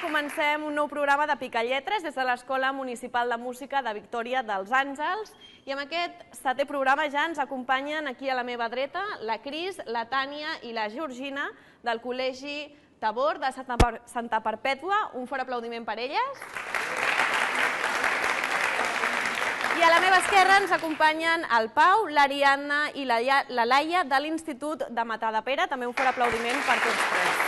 comencem un nou programa de Picalletres des de l'Escola Municipal de Música de Victòria dels Àngels i amb aquest 7è programa ja ens acompanyen aquí a la meva dreta la Cris, la Tània i la Georgina del Col·legi Tabor de Santa Perpètua. Un fort aplaudiment per elles. I a la meva esquerra ens acompanyen el Pau, l'Ariadna i la Laia de l'Institut de Matadepera. També un fort aplaudiment per tots tres.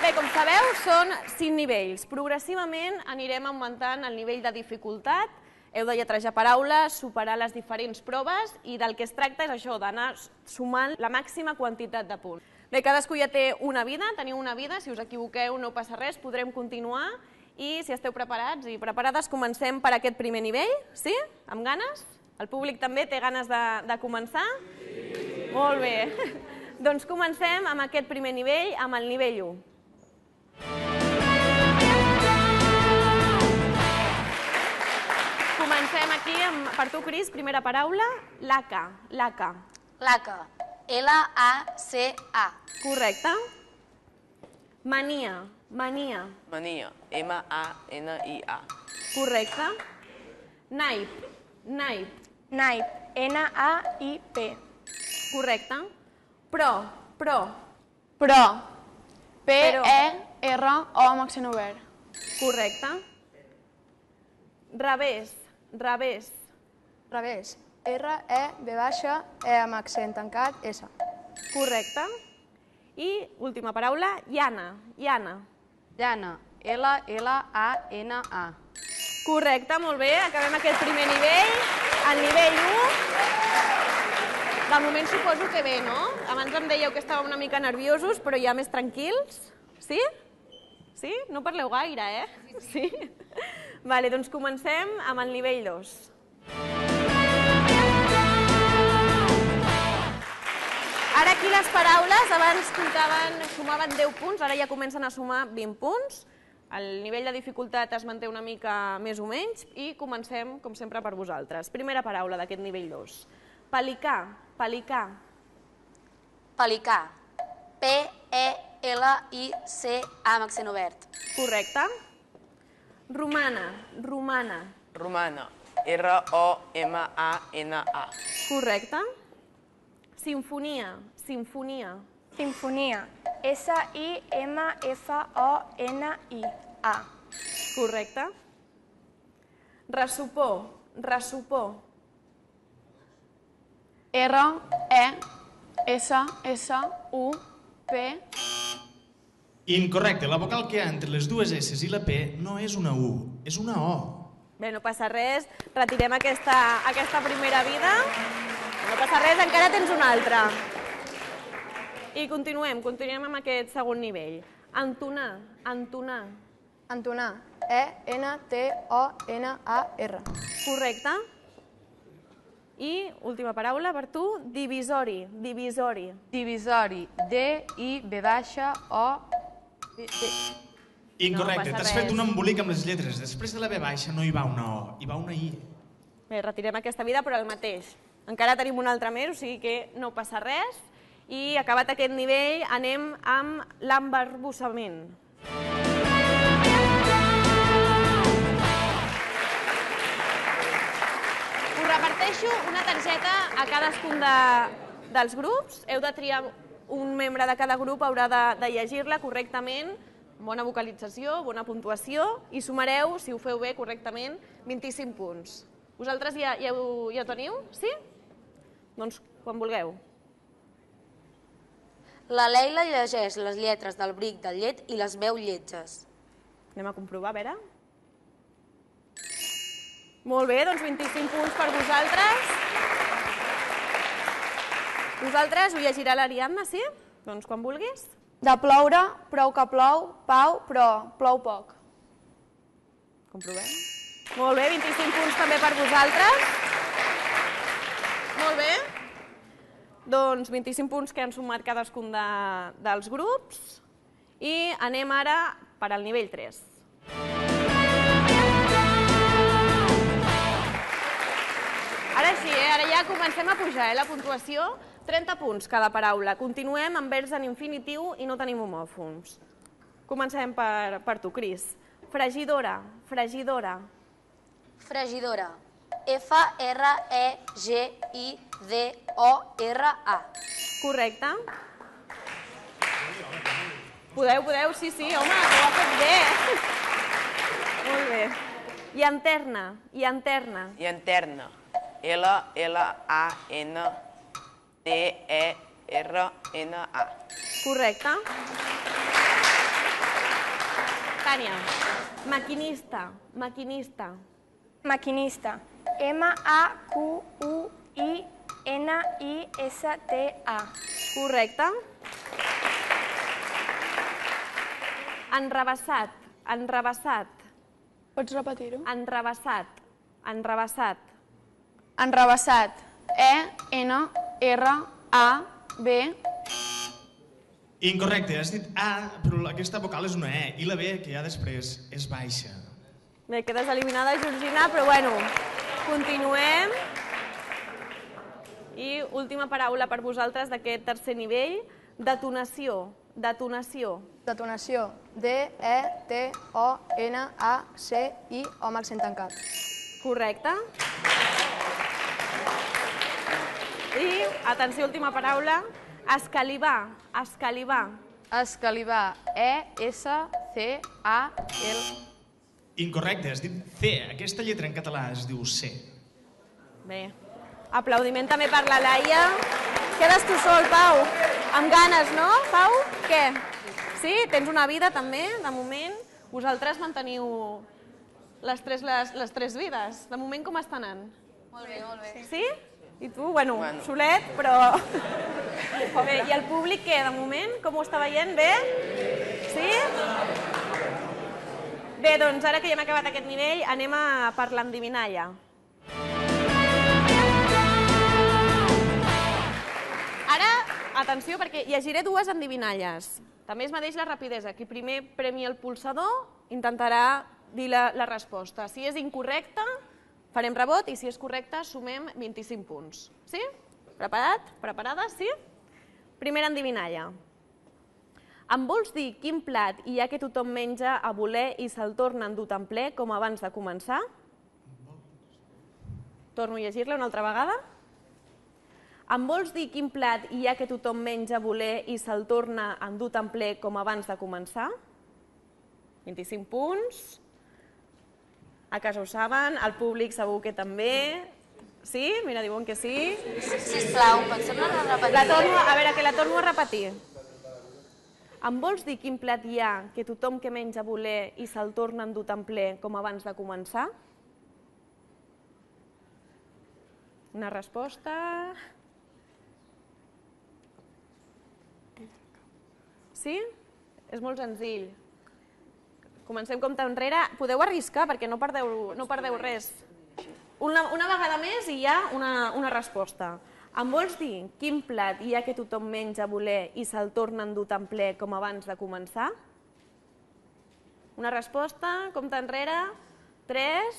Bé, com sabeu, són 5 nivells. Progressivament anirem augmentant el nivell de dificultat. Heu de lletrejar paraules, superar les diferents proves i del que es tracta és això, d'anar sumant la màxima quantitat de punts. Bé, cadascú ja té una vida, teniu una vida, si us equivoqueu no passa res, podrem continuar i si esteu preparats i preparades comencem per aquest primer nivell, sí? Amb ganes? El públic també té ganes de començar? Sí! Molt bé. Doncs comencem amb aquest primer nivell, amb el nivell 1. Comencem aquí per tu, Cris, primera paraula, laca, laca. Laca, L-A-C-A. Correcte. Mania, mania. Mania, M-A-N-I-A. Correcte. Naip, naip. Naip, N-A-I-P. Correcte. Pro, pro. Pro, P-E-R-O amb accent obert. Correcte. Revés, revés. Revés, R-E-V-E amb accent tancat, S. Correcte. I última paraula, llana, llana. Llana, L-L-A-N-A. Correcte, molt bé. Acabem aquest primer nivell. El nivell 1. De moment suposo que bé, no? Abans em dèieu que estàveu una mica nerviosos, però ja més tranquils. Sí? Sí? No parleu gaire, eh? Sí? Vale, doncs comencem amb el nivell 2. Ara aquí les paraules, abans sumaven 10 punts, ara ja comencen a sumar 20 punts. El nivell de dificultat es manté una mica més o menys i comencem, com sempre, per vosaltres. Primera paraula d'aquest nivell 2. Pelicà, pelicà. Pelicà, P-E-L-I-C-A amb accent obert. Correcte. Romana, romana. Romana, R-O-M-A-N-A. Correcte. Simfonia, sinfonia. Sinfonia, S-I-M-F-O-N-I-A. Correcte. Ressupor, ressupor. R-E-S-S-U-P. Incorrecte, la vocal que hi ha entre les dues S i la P no és una U, és una O. Bé, no passa res, retirem aquesta primera vida. No passa res, encara tens una altra. I continuem amb aquest segon nivell. Entonar, entonar. Entonar, E-N-T-O-N-A-R. Correcte. I última paraula per tu, divisori, divisori. Divisori, D-I-V-O... Incorrecte, No passa t'has fet res. un embolic amb les lletres. Després de la V baixa no hi va una O, hi va una I. Bé, retirem aquesta vida, però el mateix. Encara tenim una altra més, o sigui que no passa res. I acabat aquest nivell, anem amb l'embarbussament. Us reparteixo una targeta a cadascun dels grups. Heu de triar un membre de cada grup, haurà de llegir-la correctament, bona vocalització, bona puntuació, i sumareu, si ho feu bé correctament, 25 punts. Vosaltres ja ho teniu? Sí? Doncs quan vulgueu. La Leila llegeix les lletres del bric del llet i les veu lletges. Anem a comprovar, a veure. Molt bé, doncs 25 punts per vosaltres. Vosaltres ho llegirà l'Ariadna, sí? Doncs quan vulguis. De ploure, prou que plou, Pau, però plou poc. Comprovem. Molt bé, 25 punts també per vosaltres. Molt bé. Doncs 25 punts que han sumat cadascun dels grups. I anem ara per al nivell 3. Ara sí, ara ja comencem a pujar la puntuació. 30 punts cada paraula. Continuem amb verbs en infinitiu i no tenim homòfons. Comencem per tu, Cris. Fregidora, fregidora. Fregidora. F-R-E-G-I-D-O-R-A. Correcte. Podeu, sí, home, que ho ha fet bé. Molt bé. Llanterna, llanterna. Llanterna. L-L-A-N-T-E-R-N-A. Correcte. Tània. Maquinista, maquinista. Maquinista. M-A-Q-U-I-N-I-S-T-A. Correcte. Enrevessat, enrevessat. Pots repetir-ho? Enrevessat, enrevessat. Enrevessat. E-N-R-A-B. Incorrecte, has dit A, però aquesta vocal és una E, i la B, que hi ha després, és baixa. Bé, quedes eliminada, Georgina, però bueno, continuem. I última paraula per vosaltres d'aquest tercer nivell, detonació, detonació. Detonació. D-E-T-O-N-A-C-I-O amb accent tancat. Correcte. I, atenció, última paraula, escalivar, escalivar. Escalivar. E-S-C-A-L. Incorrecte, has dit C. Aquesta lletra en català es diu C. Bé, aplaudiment també per la Laia. Quedes tu sol, Pau. Amb ganes, no, Pau? Què? Sí? Tens una vida també, de moment. Vosaltres manteniu les tres vides. De moment com està anant? Molt bé, molt bé. Sí? I tu? Bueno, solet, però... Bé, i el públic què, de moment? Com ho està veient? Bé? Sí? Bé, doncs ara que ja hem acabat aquest nivell, anem a per l'endivinalla. Ara, atenció, perquè llegiré dues endivinalles. També es medeix la rapidesa. Qui primer premi el pulsador intentarà dir la resposta. Si és incorrecta, farem rebot, i si és correcta, sumem 25 punts. Sí? Preparat? Preparada? Sí? Primera endivinalla. Em vols dir quin plat hi ha que tothom menja a voler i se'l torna a endur tan ple com abans de començar? Torno a llegir-la una altra vegada. Em vols dir quin plat hi ha que tothom menja a voler i se'l torna a endur tan ple com abans de començar? 25 punts. A casa ho saben, el públic segur que també. Sí? Mira, diuen que sí. Sisplau, pots tornar a repetir? A veure, que la torno a repetir. Em vols dir quin plat hi ha que tothom que menja a voler i se'l torna a endur tan ple com abans de començar? Una resposta... Sí? És molt senzill. Comencem compte enrere. Podeu arriscar perquè no perdeu res. Una vegada més i hi ha una resposta. Em vols dir quin plat hi ha que tothom menja a voler i se'l torna a endur tan ple com abans de començar? Una resposta, compte enrere. 3,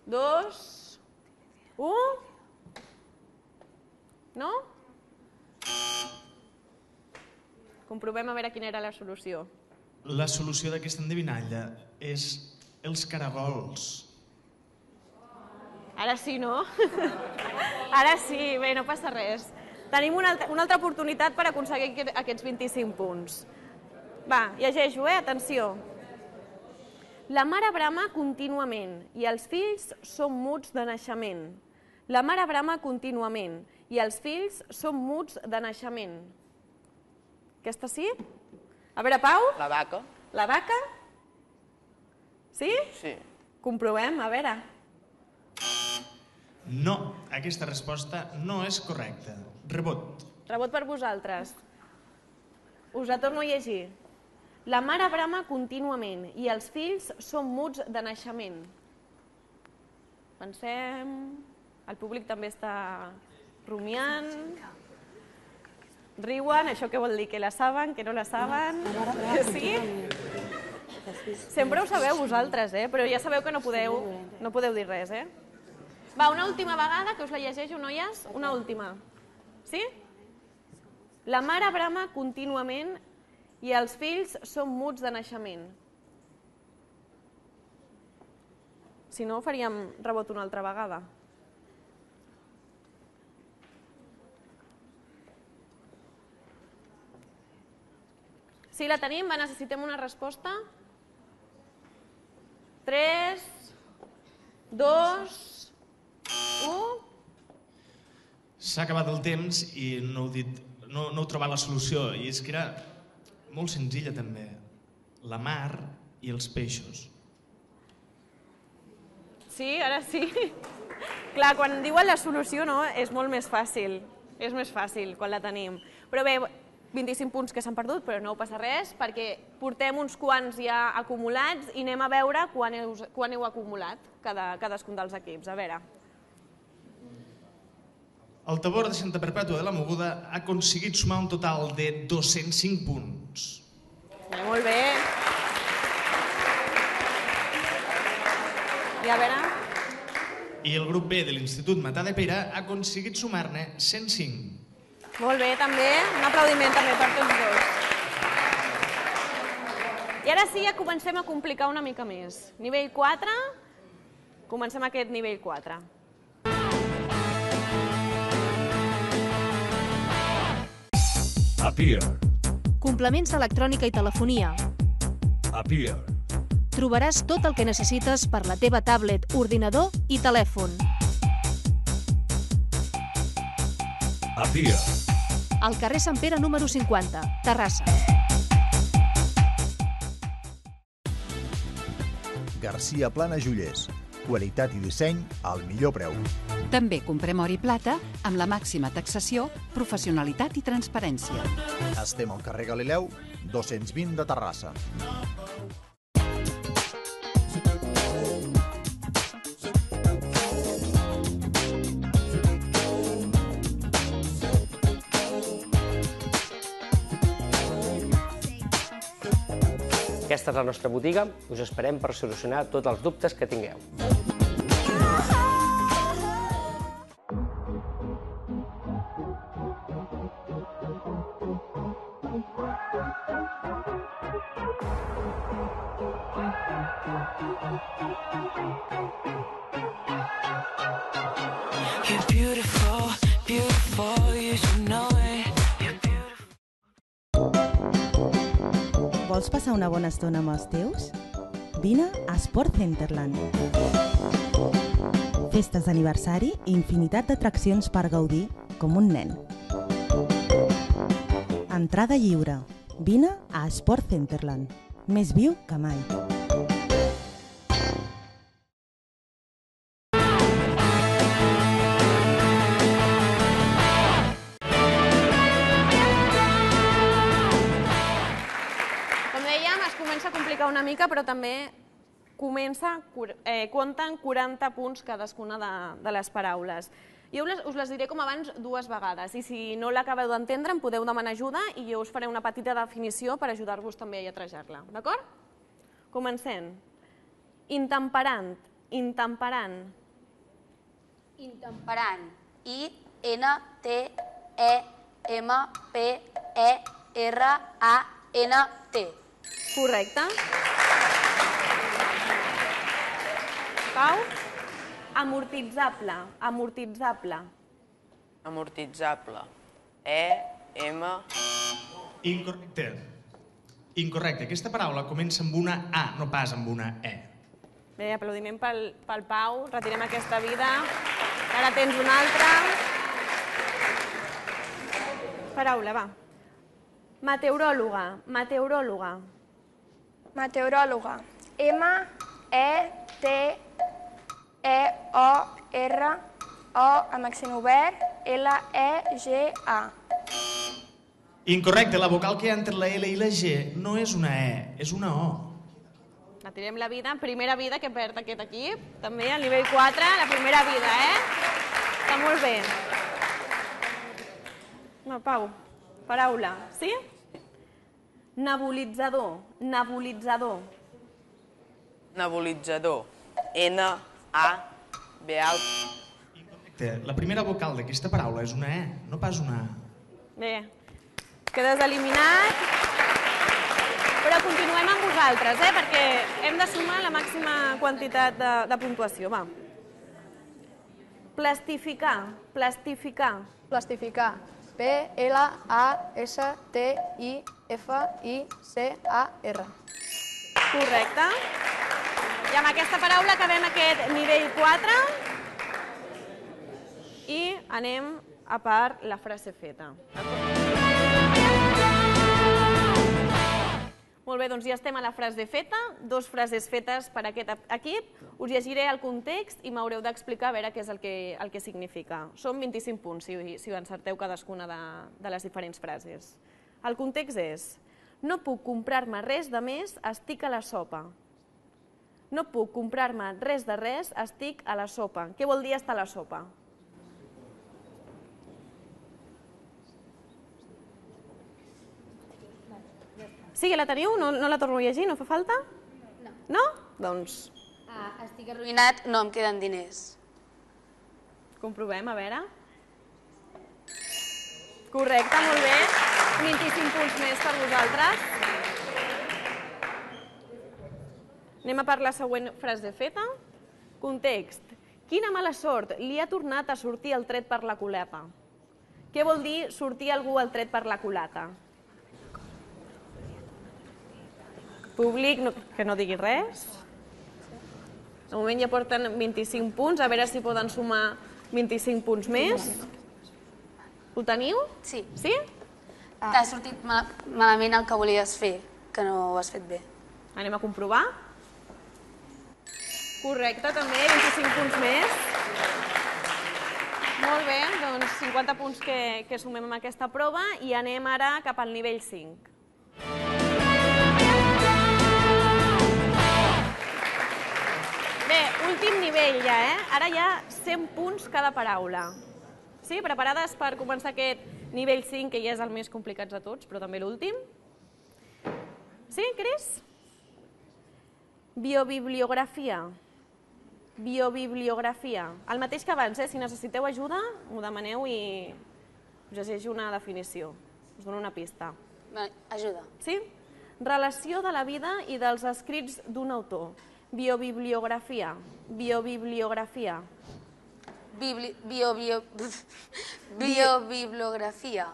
2, 1... No? Comprovem a veure quina era la solució. La solució d'aquesta endevinalla és els caragols. Ara sí, no? Ara sí, bé, no passa res. Tenim una altra oportunitat per aconseguir aquests 25 punts. Va, llegeixo, atenció. La mare brama contínuament i els fills són muts de naixement. La mare brama contínuament i els fills són muts de naixement. Aquesta sí? A veure, Pau? La vaca. La vaca? Sí? Sí. Comprovem, a veure. No, aquesta resposta no és correcta. Rebot. Rebot per vosaltres. Us la torno a llegir. La mare brama contínuament i els fills són muts de naixement. Pensem... El públic també està rumiant. Riuen, això què vol dir? Que la saben, que no la saben? Sí? Sempre ho sabeu vosaltres, però ja sabeu que no podeu dir res, Va, una última vegada, que us la llegeixo, noies? Una última. Sí? La mare brama contínuament I els fills són muts de naixement. Si no, faríem rebot una altra vegada. Sí, la tenim, va, necessitem una resposta. 3, 2, 1... S'ha acabat el temps i no heu trobat la solució. I és que era molt senzilla també. La mar i els peixos. Sí, ara sí. Clar, quan diuen la solució no, és molt més fàcil. És més fàcil quan la tenim. Però bé, 25 punts que s'han perdut, però no passa res, perquè portem uns quants ja acumulats i anem a veure quan heu acumulat cadascun dels equips. A veure. El Tabor de Santa Perpètua de la Mogoda ha aconseguit sumar un total de 205 punts. Molt bé. I a veure... I el grup B de l'Institut Matadepera ha aconseguit sumar-ne 105. Molt bé, també. Un aplaudiment també per tots dos. I ara sí, ja comencem a complicar una mica més. Nivell 4, comencem aquest nivell 4. Appear. Complements d'electrònica i telefonia. Appear. Trobaràs tot el que necessites per la teva tablet, ordinador i telèfon. Appear. Al carrer Sant Pere número 50, Terrassa. Garcia Plana Joiers. Qualitat i disseny al millor preu. També comprem or i plata amb la màxima taxació, professionalitat i transparència. Estem al carrer Galileu, 220 de Terrassa. Aquesta és la nostra botiga. Us esperem per solucionar tots els dubtes que tingueu. You're beautiful, beautiful, you should know it. Vols passar una bona estona amb els teus? Vine a Sport Centerland. Festes d'aniversari i infinitat d'atraccions per gaudir com un nen. Entrada lliure. Vine a Sport Centerland. Més viu que mai. Una mica, però també compten 40 punts cadascuna de les paraules. Jo us les diré com abans 2 vegades i si no l'acabeu d'entendre em podeu demanar ajuda i jo us faré una petita definició per ajudar-vos també a lletrejar-la, d'acord? Comencem. Intemperant, intemperant. Intemperant. I-N-T-E-M-P-E-R-A-N-T. Correcte. Pau? Amortitzable. Amortitzable. Amortitzable. E-M... Incorrecte. Incorrecte. Aquesta paraula comença amb una A, no pas amb una E. Bé, aplaudiment pel Pau. Retirem aquesta vida. Ara tens una altra. Paraula, va. Meteoròloga. Meteoròloga. Meteoròloga. M-E-T-E-O-R-O amb accent obert L-E-G-A. Incorrecte, la vocal que hi ha entre la L i la G no és una E, és una O. Retirem la vida, primera vida que perd aquest equip. També al nivell 4, la primera vida, Està molt bé. No, Pau, paraula, sí? Nebulitzador, nebulitzador. Nebulitzador. N-A-B-A... Incorrecte, la primera vocal d'aquesta paraula és una E, no pas una A. Bé, quedes eliminat. Però continuem amb vosaltres, perquè hem de sumar la màxima quantitat de puntuació. Va. Plastificar. Plastificar. Plastificar. P-L-A-S-T-I-F-I-C-A-R. Correcte. I amb aquesta paraula acabem aquest nivell 4 i anem a per la frase feta. Molt bé, doncs ja estem a la frase feta, 2 frases fetes per aquest equip. Us llegiré el context i m'haureu d'explicar a veure què és el que significa. Són 25 punts si ho encerteu cadascuna de les diferents frases. El context és: no puc comprar-me res de més, estic a la sopa. No puc comprar-me res de res, estic a la sopa. Què vol dir estar a la sopa? Sí, ja la teniu? No la torno a llegir? No fa falta? No. No? Doncs... Estic arruïnat, no em queden diners. Comprovem, a veure. Correcte, molt bé. 25 punts més per vosaltres. Anem a per la següent frase feta. Context. Quina mala sort, li ha tornat a sortir el tret per la culata. Què vol dir sortir algú el tret per la culata? Públic, que no digui res. De moment ja porten 25 punts, a veure si poden sumar 25 punts més. Ho teniu? Sí. Sí? T'ha sortit malament el que volies fer, que no ho has fet bé. Anem a comprovar. Correcte, també, 25 punts més. Molt bé, doncs 50 punts que sumem amb aquesta prova i anem ara cap al nivell 5. Bé, últim nivell ja, Ara hi ha 100 punts cada paraula. Sí, preparades per començar aquest nivell 5, que ja és el més complicat de tots, però també l'últim? Sí, Cris? Biobibliografia. Biobibliografia. El mateix que abans, si necessiteu ajuda, m'ho demaneu i us llegeixo una definició. Us dono una pista. Ajuda. Sí? Relació de la vida i dels escrits d'un autor. Biobibliografia. Biobibliografia. Biobibliografia.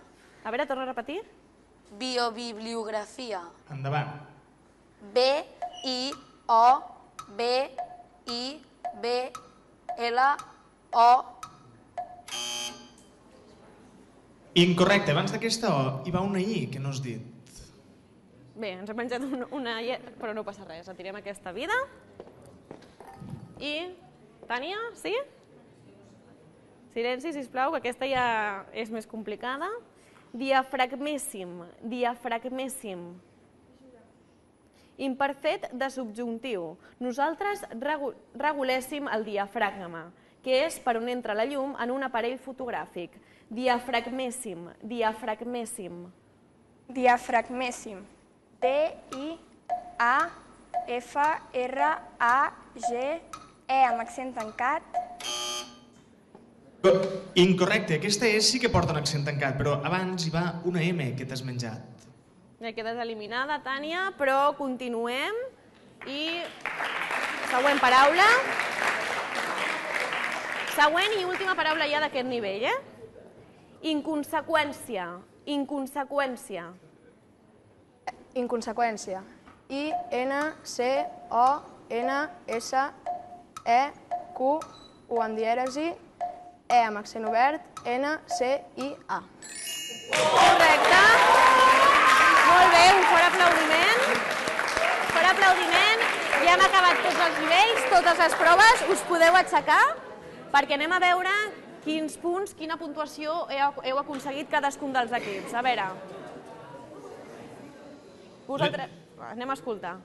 A veure, torna a repetir. Biobibliografia. Endavant. B-I-O-B-I-B-L-O. Incorrecte, abans d'aquesta O hi va una I que no has dit. Bé, ens hem menjat una I, però no passa res. Retirem aquesta vida. I... Tània, sí? Silenci, sisplau, que aquesta ja és més complicada. Diafragméssim. Diafragméssim. Imperfet de subjuntiu. Nosaltres reguléssim el diafragma, que és per on entra la llum en un aparell fotogràfic. Diafragméssim. Diafragméssim. Diafragméssim. D-I-A-F-R-A-G-E amb accent tancat. Incorrecte, aquesta sí que porta un accent tancat, però abans hi va una M que t'has menjat. Ja quedes eliminada, Tània, però continuem. I següent paraula. Següent i última paraula ja d'aquest nivell, Inconseqüència. Inconseqüència. Inconseqüència. I-N-C-O-N-S-E-Q, U amb dièresi, E amb accent obert, N-C-I-A. Correcte. Molt bé, un fort aplaudiment. Fort aplaudiment. Ja hem acabat tots els nivells, totes les proves. Us podeu aixecar perquè anem a veure quins punts, quina puntuació heu aconseguit cadascun dels equips. A veure. Vosaltres... Anem a escoltar.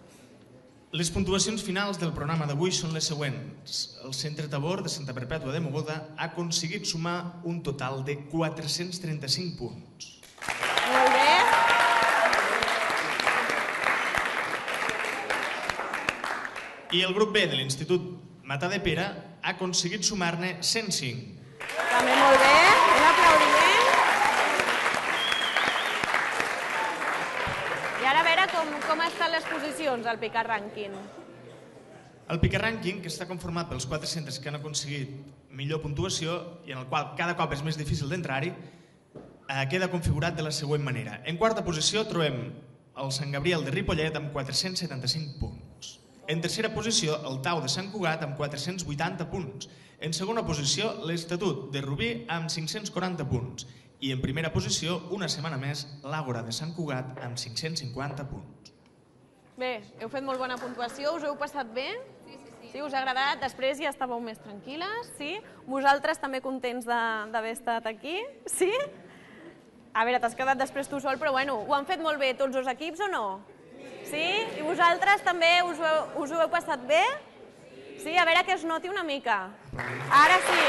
Les puntuacions finals del programa d'avui són les següents. El Centre Tabor de Santa Perpètua de Mogoda ha aconseguit sumar un total de 435 punts. Molt bé. I el grup B de l'Institut Matadepera ha aconseguit sumar-ne 105. També molt bé. Un aplaudiment. I ara a veure com com estan les posicions al Picar Rànquing? El Picar Rànquing, que està conformat pels 4 centres que han aconseguit millor puntuació i en el qual cada cop és més difícil d'entrar-hi, queda configurat de la següent manera. En quarta posició trobem el Sant Gabriel de Ripollet amb 475 punts. En tercera posició, el Tau de Sant Cugat amb 480 punts. En segona posició, l'Estatut de Rubí amb 540 punts. I en primera posició, una setmana més, l'Àgora de Sant Cugat amb 550 punts. Bé, heu fet molt bona puntuació, us heu passat bé? Sí, us ha agradat? Després ja estàveu més tranquil·les, sí? Vosaltres també contents d'haver estat aquí, sí? A veure, t'has quedat després tu sol, però bueno, ho han fet molt bé tots els equips o no? Sí? I vosaltres també us ho heu passat bé? Sí? A veure que es noti una mica. Ara sí.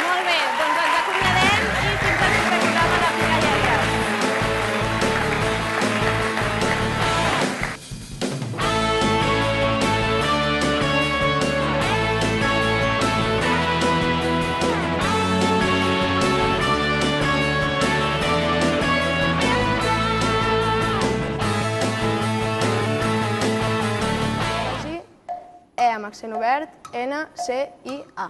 Molt bé, doncs ens acomiadem i fins al proper programa de Picar Lletres. E amb accent obert, N, C, I, A.